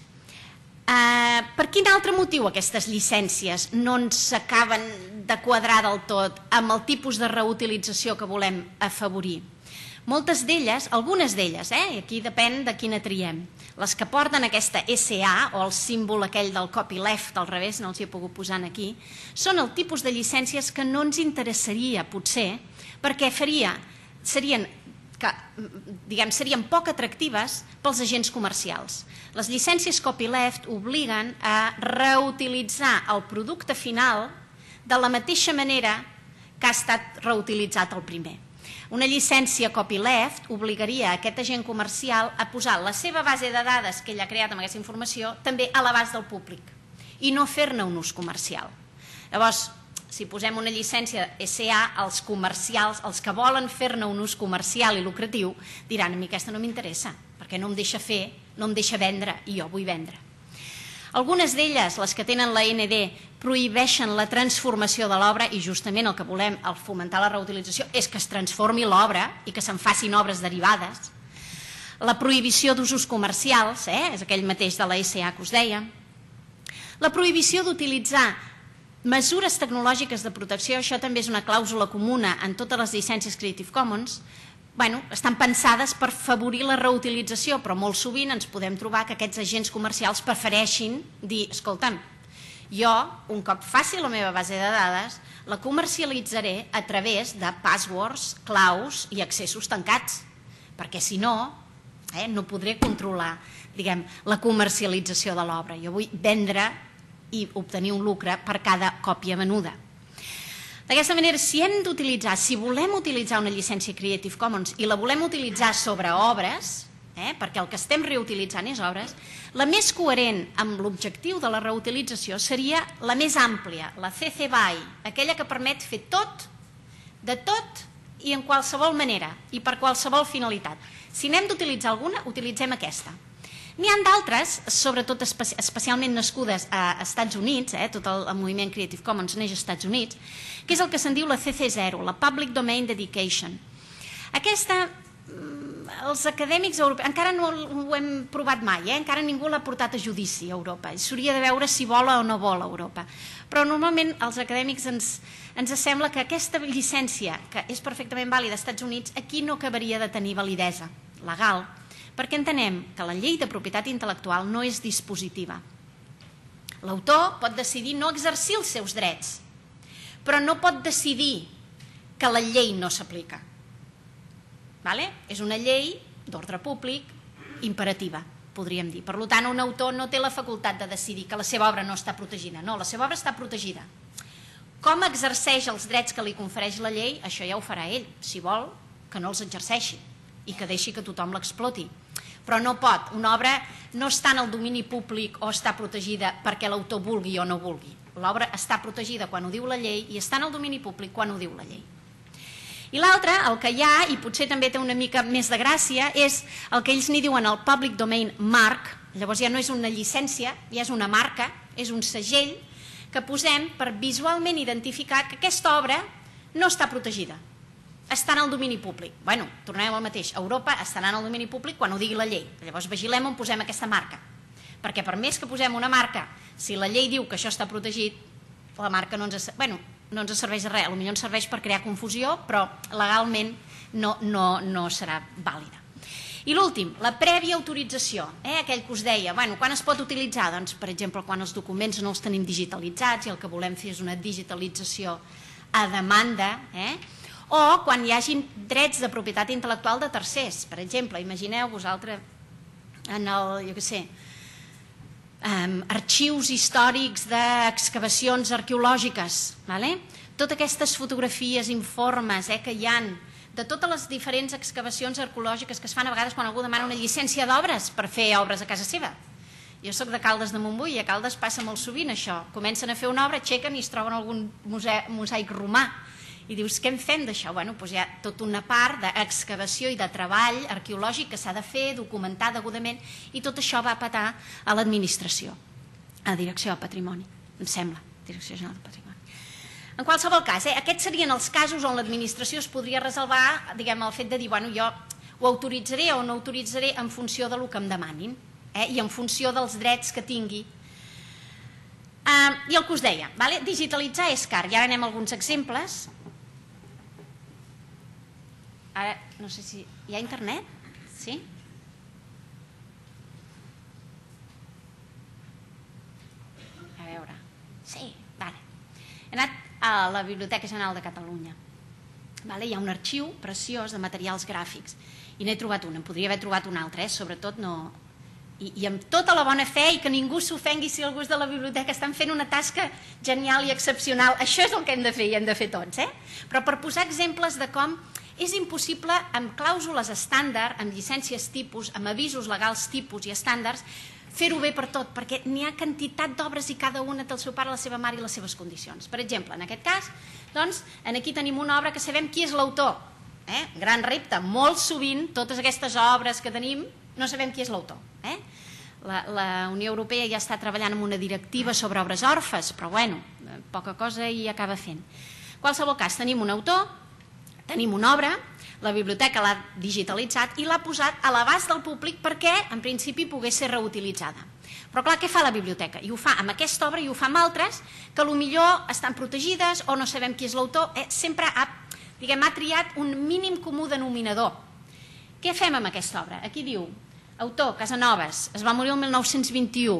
Uh, per quin altre motiu aquestes llicències no ens acaben de quadrar del tot amb el tipus de reutilització que volem afavorir? Moltes d'elles, algunes d'elles, eh, i aquí depèn de quina triem, les que porten aquesta S A o el símbol aquell del copyleft al revés, no els hi he pogut posar aquí, són el tipus de llicències que no ens interessaria potser perquè faria, serien que diguem, serien poc atractives pels agents comercials. Les llicències copyleft obliguen a reutilitzar el producte final de la mateixa manera que ha estat reutilitzat el primer. Una llicència copyleft obligaria a aquest agent comercial a posar la seva base de dades que ell ha creat amb aquesta informació també a l'abast del públic i no fer-ne un ús comercial. Llavors, si posem una llicència S A, els comercials, els que volen fer-ne un ús comercial i lucratiu, diran, a mi aquesta no m'interessa, perquè no em deixa fer, no em deixa vendre, i jo vull vendre. Algunes d'elles, les que tenen la N D, prohibeixen la transformació de l'obra i justament el que volem al fomentar la reutilització és que es transformi l'obra i que se'n facin obres derivades. La prohibició d'usos comercials, eh, és aquell mateix de la S A que us deia. La prohibició d'utilitzar mesures tecnològiques de protecció, això també és una clàusula comuna en totes les llicències Creative Commons, bueno, estan pensades per favorir la reutilització, però molt sovint ens podem trobar que aquests agents comercials prefereixin dir, escolta'm, jo, un cop faci la meva base de dades, la comercialitzaré a través de passwords, claus i accessos tancats, perquè si no, eh, no podré controlar, diguem, la comercialització de l'obra. Jo vull vendre i obtenir un lucre per cada còpia venuda. D'aquesta manera, si hem d'utilitzar, si volem utilitzar una llicència Creative Commons i la volem utilitzar sobre obres, perquè el que estem reutilitzant és obres, la més coherent amb l'objectiu de la reutilització seria la més àmplia, la C C B Y, aquella que permet fer tot, de tot i en qualsevol manera i per qualsevol finalitat. Si n'hem d'utilitzar alguna, utilitzem aquesta. N'hi ha d'altres, sobretot especialment nascudes a Estats Units, tot el moviment Creative Commons neix als Estats Units, que és el que se'n diu la C C zero, la Public Domain Dedication. Aquesta, els acadèmics europeus, encara no ho hem provat mai, encara ningú l'ha portat a judici a Europa, s'hauria de veure si vola o no vola Europa, però normalment els acadèmics ens sembla que aquesta llicència, que és perfectament vàlida als Estats Units, aquí no acabaria de tenir validesa legal, perquè entenem que la llei de propietat intel·lectual no és dispositiva. L'autor pot decidir no exercir els seus drets, però no pot decidir que la llei no s'aplica. És una llei d'ordre públic imperativa, podríem dir. Per tant, un autor no té la facultat de decidir que la seva obra no està protegida. No, la seva obra està protegida. Com exerceix els drets que li confereix la llei, això ja ho farà ell. Si vol, que no els exerceixi i que deixi que tothom l'exploti. Però no pot. Una obra no està en el domini públic o està protegida perquè l'autor vulgui o no vulgui. L'obra està protegida quan ho diu la llei i està en el domini públic quan ho diu la llei. I l'altre, el que hi ha, i potser també té una mica més de gràcia, és el que ells n'hi diuen el Public Domain Mark. Llavors ja no és una llicència, ja és una marca, és un segell que posem per visualment identificar que aquesta obra no està protegida, està en el domini públic. Bueno, tornem al mateix, Europa estarà en el domini públic quan ho digui la llei. Llavors vigilem on posem aquesta marca, perquè per més que posem una marca, si la llei diu que això està protegit, la marca no ens... Bueno, no ens serveix de res, potser ens serveix per crear confusió, però legalment no serà vàlida. I l'últim, la prèvia autorització, aquell que us deia, quan es pot utilitzar? Doncs, per exemple, quan els documents no els tenim digitalitzats i el que volem fer és una digitalització a demanda, o quan hi hagi drets de propietat intel·lectual de tercers. Per exemple, imagineu vosaltres en el, jo què sé, arxius històrics d'excavacions arqueològiques, totes aquestes fotografies, informes que hi ha de totes les diferents excavacions arqueològiques que es fan a vegades quan algú demana una llicència d'obres per fer obres a casa seva. Jo soc de Caldes de Montbui i a Caldes passa molt sovint això. Comencen a fer una obra, aixequen i es troben algun mosaic romà. I dius, què en fem d'això? Bé, doncs hi ha tota una part d'excavació i de treball arqueològic que s'ha de fer, documentar degudament, i tot això va a patar a l'administració, a la Direcció de Patrimoni, em sembla, Direcció General de Patrimoni. En qualsevol cas, aquests serien els casos on l'administració es podria reservar, diguem, el fet de dir, bueno, jo ho autoritzaré o no autoritzaré en funció del que em demanin i en funció dels drets que tingui. I el que us deia, digitalitzar és car, i ara anem a alguns exemples. Ara, no sé si... Hi ha internet? Sí? A veure... Sí, vale. He anat a la Biblioteca General de Catalunya. Hi ha un arxiu preciós de materials gràfics i n'he trobat un, en podria haver trobat un altre, sobretot no... I amb tota la bona fe i que ningú s'ofengui si algú és de la biblioteca, estan fent una tasca genial i excepcional. Això és el que hem de fer i hem de fer tots, eh? Però per posar exemples de com és impossible, amb clàusules estàndard, amb llicències tipus, amb avisos legals tipus i estàndards, fer-ho bé per tot, perquè n'hi ha quantitat d'obres i cada una té el seu pare, la seva mare i les seves condicions. Per exemple, en aquest cas, doncs, aquí tenim una obra que sabem qui és l'autor. Gran repte, molt sovint, totes aquestes obres que tenim, no sabem qui és l'autor. La Unió Europea ja està treballant en una directiva sobre obres orfes, però bueno, poca cosa hi acaba fent. En qualsevol cas, tenim un autor, tenim una obra, la biblioteca l'ha digitalitzat i l'ha posat a l'abast del públic perquè, en principi, pogués ser reutilitzada. Però clar, què fa la biblioteca? I ho fa amb aquesta obra i ho fa amb altres que potser estan protegides o no sabem qui és l'autor. Sempre ha triat un mínim comú denominador. Què fem amb aquesta obra? Aquí diu, autor, Casanovas, es va morir el mil nou-cents vint-i-u,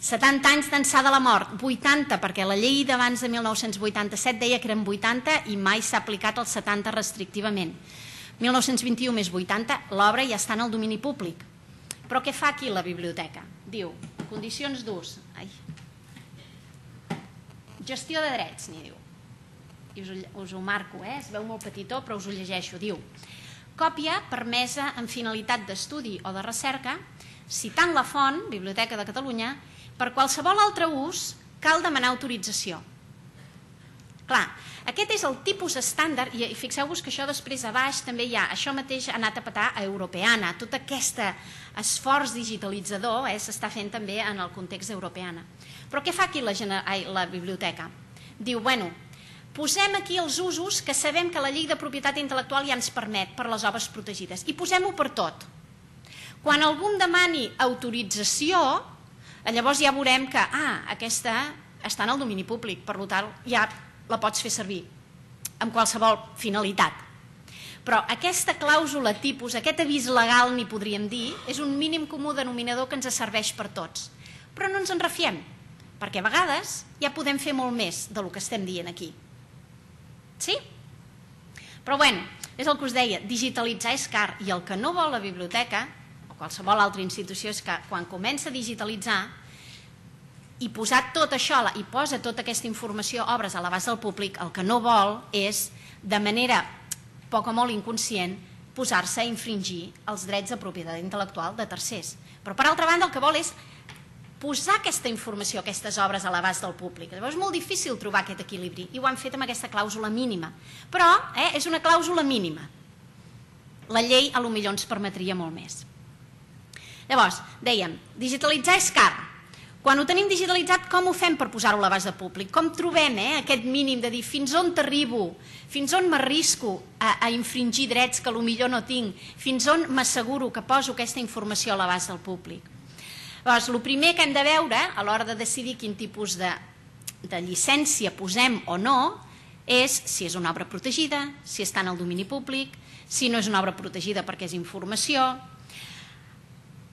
setanta anys d'ençà de la mort, vuitanta, perquè la llei d'abans de mil nou-cents vuitanta-set deia que eren vuitanta i mai s'ha aplicat el setanta restrictivament. mil nou-cents vint-i-u més vuitanta, l'obra ja està en el domini públic. Però què fa aquí la biblioteca? Diu, condicions d'ús, gestió de drets, n'hi diu. I us ho marco, es veu molt petitó, però us ho llegeixo. Diu, còpia permesa amb finalitat d'estudi o de recerca, citant la font, Biblioteca de Catalunya, per qualsevol altre ús cal demanar autorització. Clar, aquest és el tipus estàndard, i fixeu-vos que això després a baix també hi ha, això mateix ha anat a petar a Europeana, tot aquest esforç digitalitzador s'està fent també en el context d'Europeana. Però què fa aquí la biblioteca? Diu, bueno, posem aquí els usos que sabem que la llei de propietat intel·lectual ja ens permet per les obres protegides i posem-ho per tot. Quan algú em demani autorització, llavors ja veurem que, ah, aquesta està en el domini públic, per tant ja la pots fer servir amb qualsevol finalitat. Però aquesta clàusula tipus, aquest avís legal, n'hi podríem dir, és un mínim comú denominador que ens serveix per tots. Però no ens en refiem, perquè a vegades ja podem fer molt més del que estem dient aquí. Sí? Però bueno, és el que us deia, digitalitzar és car, i el que no vol la biblioteca, o qualsevol altra institució, és que quan comença a digitalitzar i posar tot això, i posa tota aquesta informació, obres a l'abast del públic, el que no vol és, de manera poc o molt inconscient, posar-se a infringir els drets de propietat intel·lectual de tercers. Però per altra banda el que vol és posar aquesta informació, aquestes obres a l'abast del públic. Llavors és molt difícil trobar aquest equilibri i ho han fet amb aquesta clàusula mínima. Però eh, és una clàusula mínima. La llei potser ens permetria molt més. Llavors, dèiem, digitalitzar és car. Quan ho tenim digitalitzat, com ho fem per posar-ho a l'abast del públic? Com trobem eh, aquest mínim de dir fins on t'arribo, fins on m'arrisco a, a infringir drets que potser no tinc, fins on m'asseguro que poso aquesta informació a l'abast del públic? Llavors, el primer que hem de veure a l'hora de decidir quin tipus de, de llicència posem o no és si és una obra protegida, si està en el domini públic, si no és una obra protegida perquè és informació.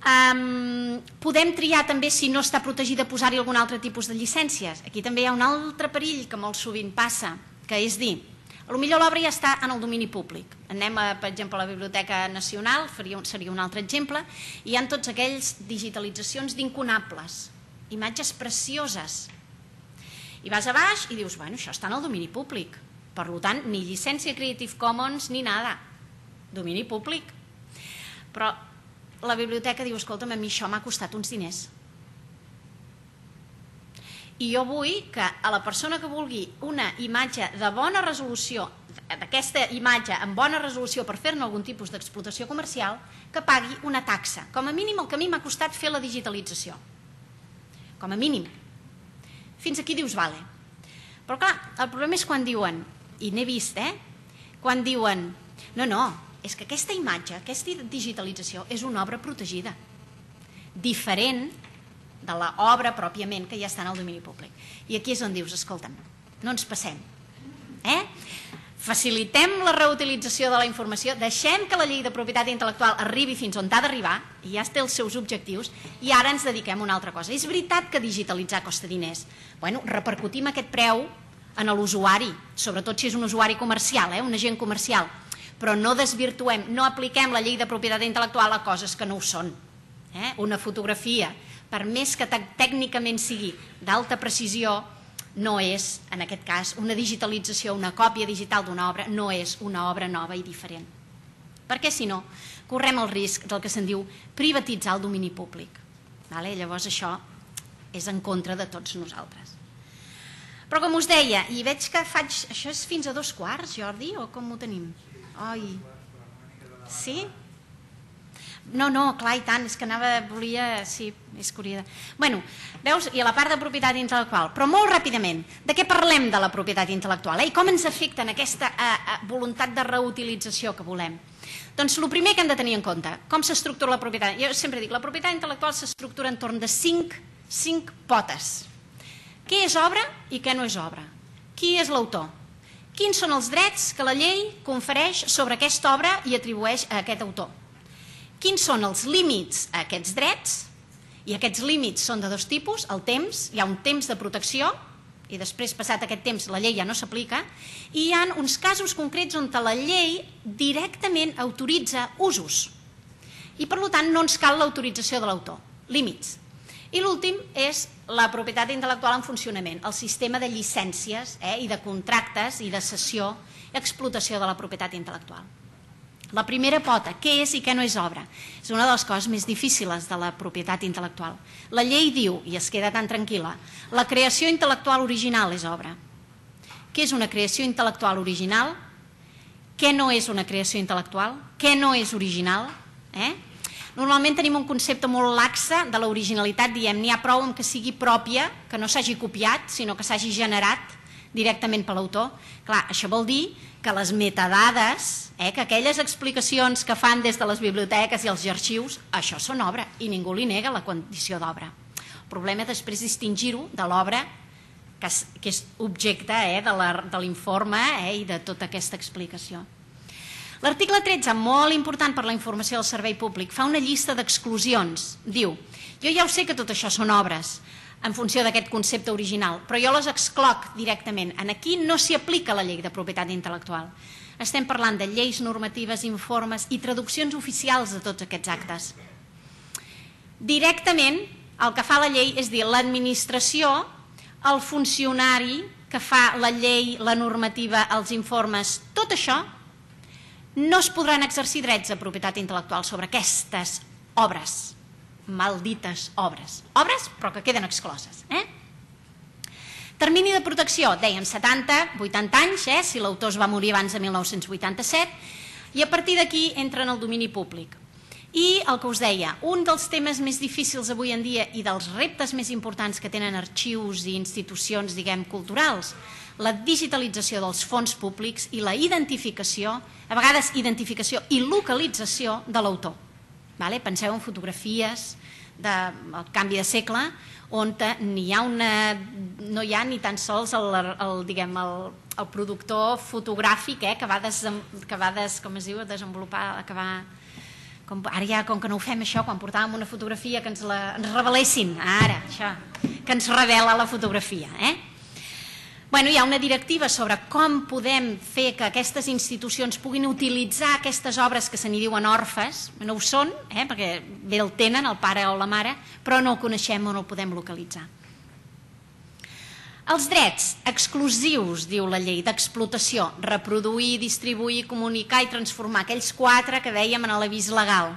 Um, podem triar també, si no està protegida, posar-hi algun altre tipus de llicències. Aquí també hi ha un altre perill que molt sovint passa, que és dir, potser l'obra ja està en el domini públic. Anem, a, per exemple, a la Biblioteca Nacional, faria, seria un altre exemple, i hi ha tots aquells digitalitzacions d'incunables, imatges precioses. I vas a baix i dius, bueno, això està en el domini públic, per tant, ni llicència Creative Commons ni nada, domini públic. Però la biblioteca diu, escolta'm, a mi això m'ha costat uns diners. I jo vull que a la persona que vulgui una imatge de bona resolució, d'aquesta imatge amb bona resolució per fer-ne algun tipus d'explotació comercial, que pagui una taxa. Com a mínim el que a mi m'ha costat fer la digitalització. Com a mínim. Fins aquí dius, vale. Però clar, el problema és quan diuen, i n'he vist, eh? Quan diuen, no, no, és que aquesta imatge, aquesta digitalització és una obra protegida, diferent de l'obra pròpiament que ja està en el domini públic. I aquí és on dius, escolta'm, no ens passem. Eh? Facilitem la reutilització de la informació, deixem que la llei de propietat intel·lectual arribi fins on ha d'arribar, i ja té els seus objectius, i ara ens dediquem a una altra cosa. És veritat que digitalitzar costa diners. Bueno, repercutim aquest preu en l'usuari, sobretot si és un usuari comercial, eh? Un agent comercial, però no desvirtuem, no apliquem la llei de propietat intel·lectual a coses que no ho són. Eh? Una fotografia, per més que tècnicament sigui d'alta precisió, no és, en aquest cas, una digitalització, una còpia digital d'una obra, no és una obra nova i diferent. Perquè, si no, correm el risc del que se'n diu privatitzar el domini públic. Vale? Llavors això és en contra de tots nosaltres. Però com us deia, i veig que faig... Això és fins a dos quarts, Jordi, o com ho tenim? Ai, sí? No, no, clar, i tant, és que anava, volia... Sí, és curiosa. Bueno, veus, i a la part de propietat intel·lectual, però molt ràpidament, de què parlem de la propietat intel·lectual? Eh? I com ens afecta en aquesta eh, voluntat de reutilització que volem? Doncs el primer que hem de tenir en compte, com s'estructura la propietat? Jo sempre dic, la propietat intel·lectual s'estructura entorn de cinc, cinc potes. Què és obra i què no és obra? Qui és l'autor? Quins són els drets que la llei confereix sobre aquesta obra i atribueix a aquest autor? Quins són els límits a aquests drets? I aquests límits són de dos tipus, el temps, hi ha un temps de protecció, i després, passat aquest temps, la llei ja no s'aplica, i hi ha uns casos concrets on la llei directament autoritza usos. I, per tant, no ens cal l'autorització de l'autor. Límits. I l'últim és la propietat intel·lectual en funcionament, el sistema de llicències eh, i de contractes i de cessió i explotació de la propietat intel·lectual. La primera pota, què és i què no és obra? És una de les coses més difícils de la propietat intel·lectual. La llei diu, i es queda tan tranquil·la, la creació intel·lectual original és obra. Què és una creació intel·lectual original? Què no és una creació intel·lectual? Què no és original? Eh? Normalment tenim un concepte molt laxe de l'originalitat, diem, n'hi ha prou amb que sigui pròpia, que no s'hagi copiat, sinó que s'hagi generat directament per l'autor. Clar, això vol dir que les metadades, eh, que aquelles explicacions que fan des de les biblioteques i els arxius, això són obra i ningú li nega la condició d'obra. El problema és després distingir-ho de l'obra que, que és objecte eh, de l'informe eh, i de tota aquesta explicació. L'article tretze, molt important per la informació del servei públic, fa una llista d'exclusions. Diu, jo ja ho sé que tot això són obres, en funció d'aquest concepte original, però jo les excloc directament. Aquí no s'hi aplica la llei de propietat intel·lectual. Estem parlant de lleis, normatives, informes i traduccions oficials de tots aquests actes. Directament, el que fa la llei és dir l'administració, el funcionari que fa la llei, la normativa, els informes, tot això, no es podran exercir drets de propietat intel·lectual sobre aquestes obres, maldites obres. Obres, però que queden excloses. Eh? Termini de protecció, deien setanta, vuitanta anys, eh, si l'autor es va morir abans de mil nou-cents vuitanta-set, i a partir d'aquí entra en el domini públic. I el que us deia, un dels temes més difícils avui en dia i dels reptes més importants que tenen arxius i institucions, diguem, culturals, la digitalització dels fons públics i la identificació, a vegades identificació i localització de l'autor. Vale? Penseu en fotografies del canvi de segle on hi ha una, no hi ha ni tan sols el, el, diguem, el, el productor fotogràfic eh, que va, desem, que va des, com es diu, desenvolupar, que va, com, ara ja com que no ho fem això, quan portàvem una fotografia que ens, la, ens revelessin, ara, això, que ens revela la fotografia, eh? Bueno, hi ha una directiva sobre com podem fer que aquestes institucions puguin utilitzar aquestes obres que se n'hi diuen orfes, no ho són, eh, perquè bé el tenen, el pare o la mare, però no el coneixem o no el podem localitzar. Els drets exclusius, diu la llei, d'explotació, reproduir, distribuir, comunicar i transformar, aquells quatre que dèiem en l'avís legal.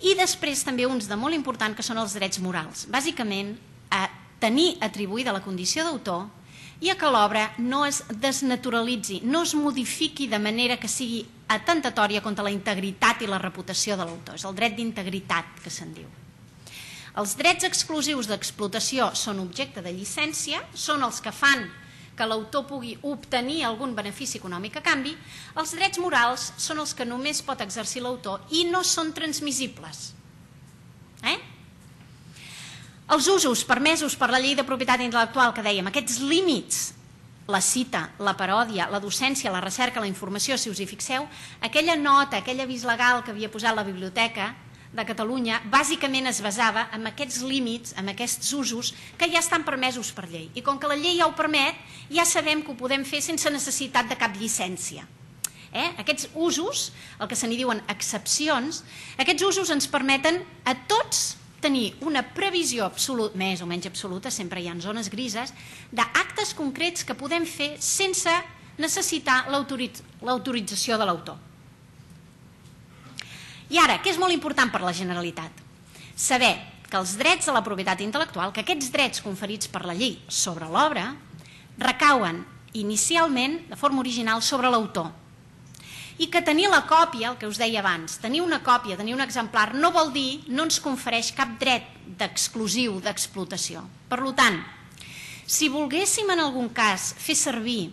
I després també uns de molt important que són els drets morals, bàsicament a tenir atribuïda la condició d'autor i a que l'obra no es desnaturalitzi, no es modifiqui de manera que sigui atentatòria contra la integritat i la reputació de l'autor. És el dret d'integritat que se'n diu. Els drets exclusius d'explotació són objecte de llicència, són els que fan que l'autor pugui obtenir algun benefici econòmic a canvi. Els drets morals són els que només pot exercir l'autor i no són transmissibles. Eh? Els usos permesos per la llei de propietat intel·lectual que dèiem, aquests límits, la cita, la paròdia, la docència, la recerca, la informació, si us hi fixeu, aquella nota, aquell avís legal que havia posat la Biblioteca de Catalunya, bàsicament es basava en aquests límits, en aquests usos que ja estan permesos per llei. I com que la llei ja ho permet, ja sabem que ho podem fer sense necessitat de cap llicència. Eh? Aquests usos, el que se n'hi diuen excepcions, aquests usos ens permeten a tots tenir una previsió absoluta, més o menys absoluta, sempre hi ha zones grises, d'actes concrets que podem fer sense necessitar l'autorització de l'autor. I ara, què és molt important per a la Generalitat? Saber que els drets de la propietat intel·lectual, que aquests drets conferits per la llei sobre l'obra, recauen inicialment, de forma original, sobre l'autor. I que tenir la còpia, el que us deia abans, tenir una còpia, tenir un exemplar, no vol dir, no ens confereix cap dret d'exclusiu d'explotació. Per tant, si volguéssim en algun cas fer servir...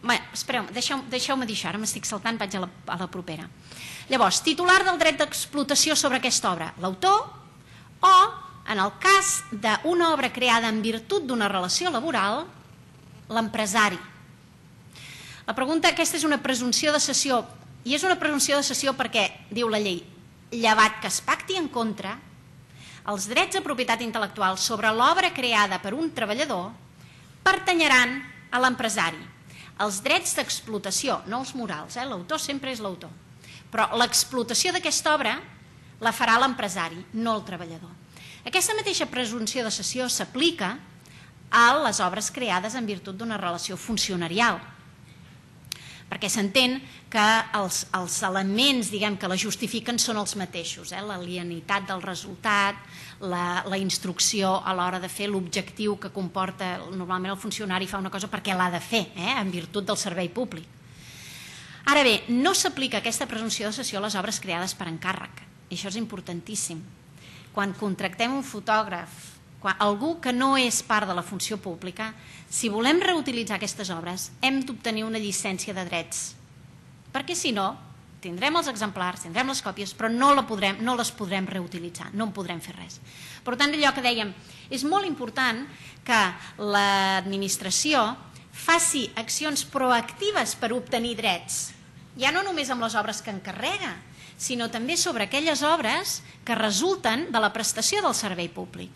Bé, espereu, deixeu-me deixeu dir això, ara m'estic saltant, vaig a la, a la propera. Llavors, titular del dret d'explotació sobre aquesta obra, l'autor, o, en el cas d'una obra creada en virtut d'una relació laboral, l'empresari. La pregunta, aquesta és una presumpció de cessió, i és una presumpció de cessió perquè, diu la llei, llevat que es pacti en contra, els drets de propietat intel·lectual sobre l'obra creada per un treballador pertanyeran a l'empresari. Els drets d'explotació, no els morals, eh? L'autor sempre és l'autor, però l'explotació d'aquesta obra la farà l'empresari, no el treballador. Aquesta mateixa presumpció de cessió s'aplica a les obres creades en virtut d'una relació funcionarial. perquè s'entén que els, els elements, diguem, que la justifiquen són els mateixos, eh? L'alienitat del resultat, la, la instrucció a l'hora de fer l'objectiu que comporta, normalment el funcionari fa una cosa perquè l'ha de fer, eh? En virtut del servei públic. Ara bé, no s'aplica aquesta presumpció de cessió a les obres creades per encàrrec, i això és importantíssim. Quan contractem un fotògraf, quan, algú que no és part de la funció pública, si volem reutilitzar aquestes obres, hem d'obtenir una llicència de drets, perquè si no, tindrem els exemplars, tindrem les còpies, però no, la podrem, no les podrem reutilitzar, no en podrem fer res. Per tant, allò que dèiem, és molt important que l'administració faci accions proactives per obtenir drets, ja no només amb les obres que encarrega, sinó també sobre aquelles obres que resulten de la prestació del servei públic.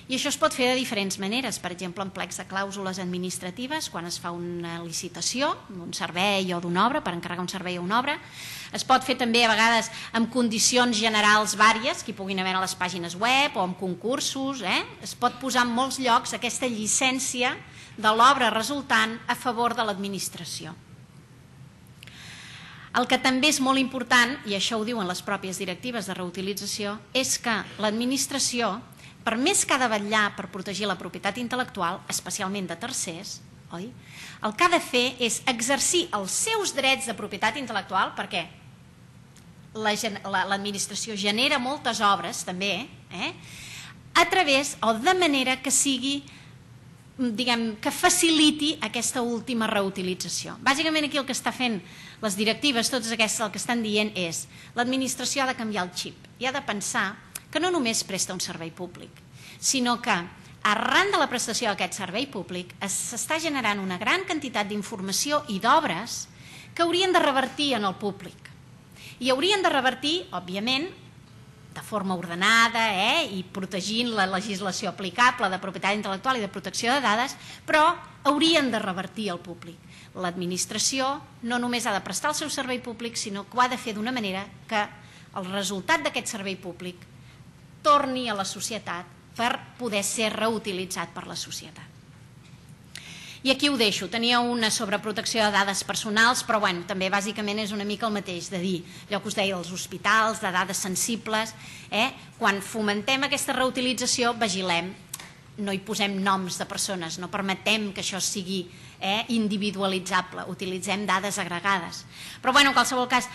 I això es pot fer de diferents maneres, per exemple, en plecs de clàusules administratives, quan es fa una licitació d'un servei o d'una obra, per encarregar un servei o una obra. Es pot fer també a vegades amb condicions generals vàries, que hi puguin haver a les pàgines web o amb concursos. Eh? Es pot posar en molts llocs aquesta llicència de l'obra resultant a favor de l'administració. El que també és molt important, i això ho diuen les pròpies directives de reutilització, és que l'administració, per més que ha de vetllar per protegir la propietat intel·lectual, especialment de tercers, oi? El que ha de fer és exercir els seus drets de propietat intel·lectual, perquè l'administració genera moltes obres, també, eh? A través o de manera que sigui, diguem, que faciliti aquesta última reutilització. Bàsicament aquí el que està fent les directives, totes aquestes, el que estan dient és l'administració ha de canviar el xip i ha de pensar que no només presta un servei públic, sinó que arran de la prestació d'aquest servei públic s'està generant una gran quantitat d'informació i d'obres que haurien de revertir en el públic. I haurien de revertir, òbviament, de forma ordenada eh, i protegint la legislació aplicable de propietat intel·lectual i de protecció de dades, però haurien de revertir al públic. L'administració no només ha de prestar el seu servei públic, sinó que ho ha de fer d'una manera que el resultat d'aquest servei públic torni a la societat per poder ser reutilitzat per la societat. I aquí ho deixo. Tenia una sobre protecció de dades personals, però bueno, també bàsicament és una mica el mateix, de dir, allò que us deia dels hospitals, de dades sensibles, eh? Quan fomentem aquesta reutilització, vigilem, no hi posem noms de persones, no permetem que això sigui eh, individualitzable, utilitzem dades agregades. Però bueno, en qualsevol cas,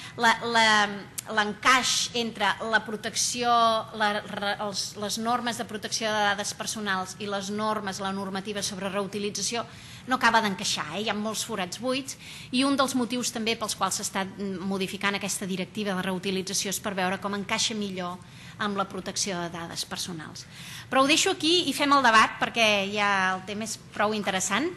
l'encaix entre la protecció, la, els, les normes de protecció de dades personals i les normes, la normativa sobre reutilització, no acaba d'encaixar, eh? Hi ha molts forats buits i un dels motius també pels quals s'està modificant aquesta directiva de reutilització és per veure com encaixa millor amb la protecció de dades personals. Però ho deixo aquí i fem el debat perquè ja el tema és prou interessant.